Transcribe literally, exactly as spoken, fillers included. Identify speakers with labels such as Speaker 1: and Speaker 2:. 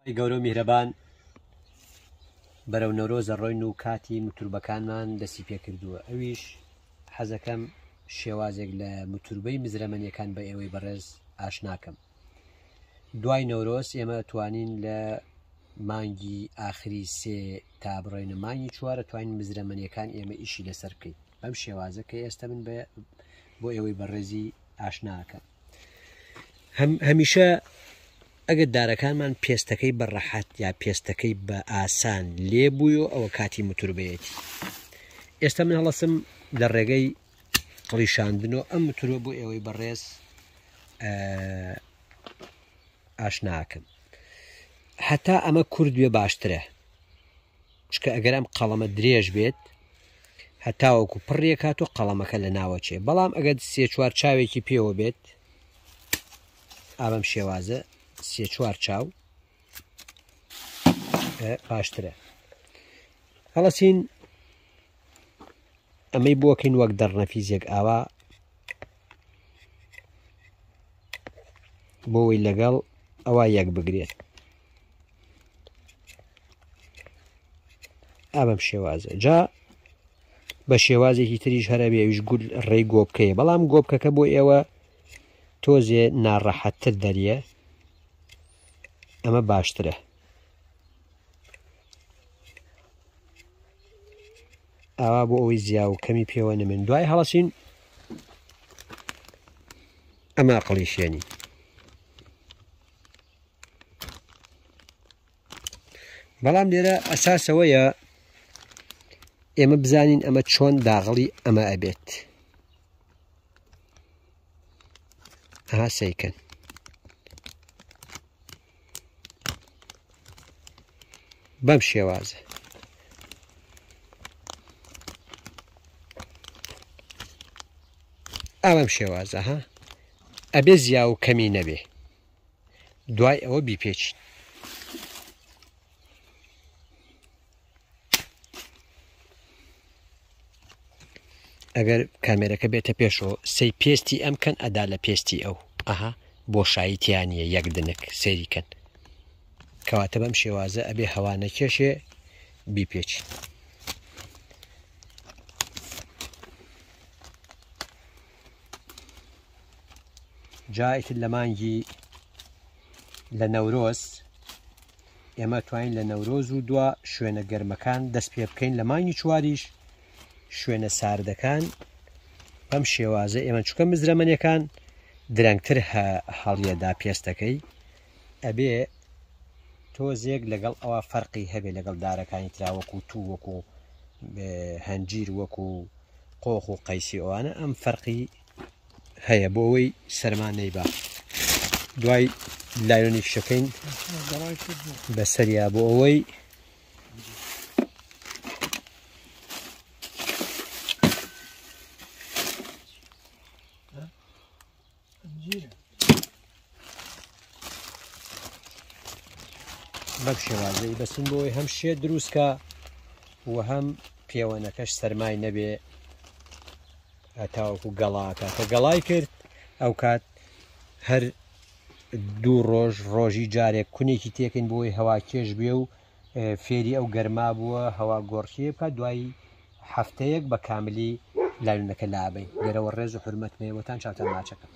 Speaker 1: خوای گەورە و میهرەبان بەرەو نەورۆز ئەڕۆین و کاتی موتوربەکانمان دەستی پێکردووە ئەویش حەزەکەم شێوازێک لە موتوربەی مزرەمەنیەکان بە ئێوەی بەڕێز ئاشناکەم. دوای نەورۆز ئێمە توانین لە مانگی ئاخری سێ تا بڕۆینە مانگی چوارە توانین مزرەمەنیەکان ئێمە ئیشی لەسەر بکەین بەم شێوازە کە ئێستا من بە بۆ ئێوەی بەڕێزی ئاشناکەم. هەم هەمیشە ئەگەر دارەکانمان پێستەکەی بە ڕەحەت یا پێستەکەی بە ئاسان لێ بوویەوە ئەوە کاتی موتوربەیەتی. ئێستا من هەڵەسم لە ڕێگەی قڵیشاندنەوە ئەم موتوربە بۆ ئێوەی بەڕێز ئاشناکەم. هەتا ئەمە کورد بێ باشترە، چکە ئەگەر ئەم قەڵەمە درێژ بێت هەتاوەکو پڕیەکات و قەڵەمەکە لە ناوەچێ، بەڵام ئەگەر سێ چوار چاوێکی پێوە بێت ئابەم شێوازە سێ چوار چاو باشترە. هەڵەسین ئەمەی بۆکەین وەک دەڕنەفیزێک ئاوا بۆەوەی لەگەڵ ئەوە یەک بگرێت ئابەم شێوازە. جا بە شێوازێکی تریش هەرە بێ ئەویش گول ڕێی گۆبکەیە، بەڵام گۆبکەکە بۆ ئێوە تۆزێ ناڕەحەتتر دەریە، ئەمە باشترە. ئاوا بۆ ئەوەی زیا و کەمی پێوە نەمێن. دوای هەڵەسین ئەمە قڵیشێنی بەڵام لێرە ئەساسەوەیە ئێمە بزانین ئەمە چۆن داغڵی ئەمە ئەبێت. ئەها سەیکەن بەم شێوازە. ئەم شێوازە ها ئەبێ زیا و کەمی نەبێ. دوای ئەوە بیپێچین. ئەگەر کامێرەکە بێتە پێشەوە سەی پێستی ئەم کەن ئەدا لە پێستی ئەو، ئەها بۆشایی تیانیە یەک دنک سەیری کەن. کەواتە بەم شێوازە ئەبێ هەوا نەکێشێ بیپێچین. جا ئیتر لە مانگی لە نەورۆز ئێمە توانین لە نەورۆز و دوا شوێنە گەرمەکان دەست پێ بکەین. لە مانگی چواریش شوێنە ساردەکان بەم شێوازە ئێمە چکە مزرەمەنیەکان درەنگتر هەڵیەدا پێستەکەی ئەبێ تۆزێک لەگەڵ ئەوە فەرقی هەبێ لەگەڵ دارەکانی ترا وەکو تو وەکو هەنجیر وەکو قۆخ و قەیسی ئەوانە ئەم فەرقی هەیە بۆ ئەوەی سەرما نەیبا. دوای لایلۆنی شەکەین بەسەریا بۆ ئەوەی بەم شێوازەی بەسین بۆ ئەوەی هەم شێ دروستکە و هەم پێوەنەکەش سەرمای نەبێ تاوەکو گەڵاکە. کە گەڵای کرد ئەو کات هەر دوو ڕۆژ ڕۆژی جارێک کونێکی تێکەین بۆ ئەوەی هەوا کێش بێ و فێری ئەو گەرما بووە هەوا گۆڕکێ بکات. دوای هەفتەیەک بە کاملی لایلۆنەکە لابەین. لێرەوە ڕێز و حورمەتم هەیە بۆتان. چاوتان ماچەکەم.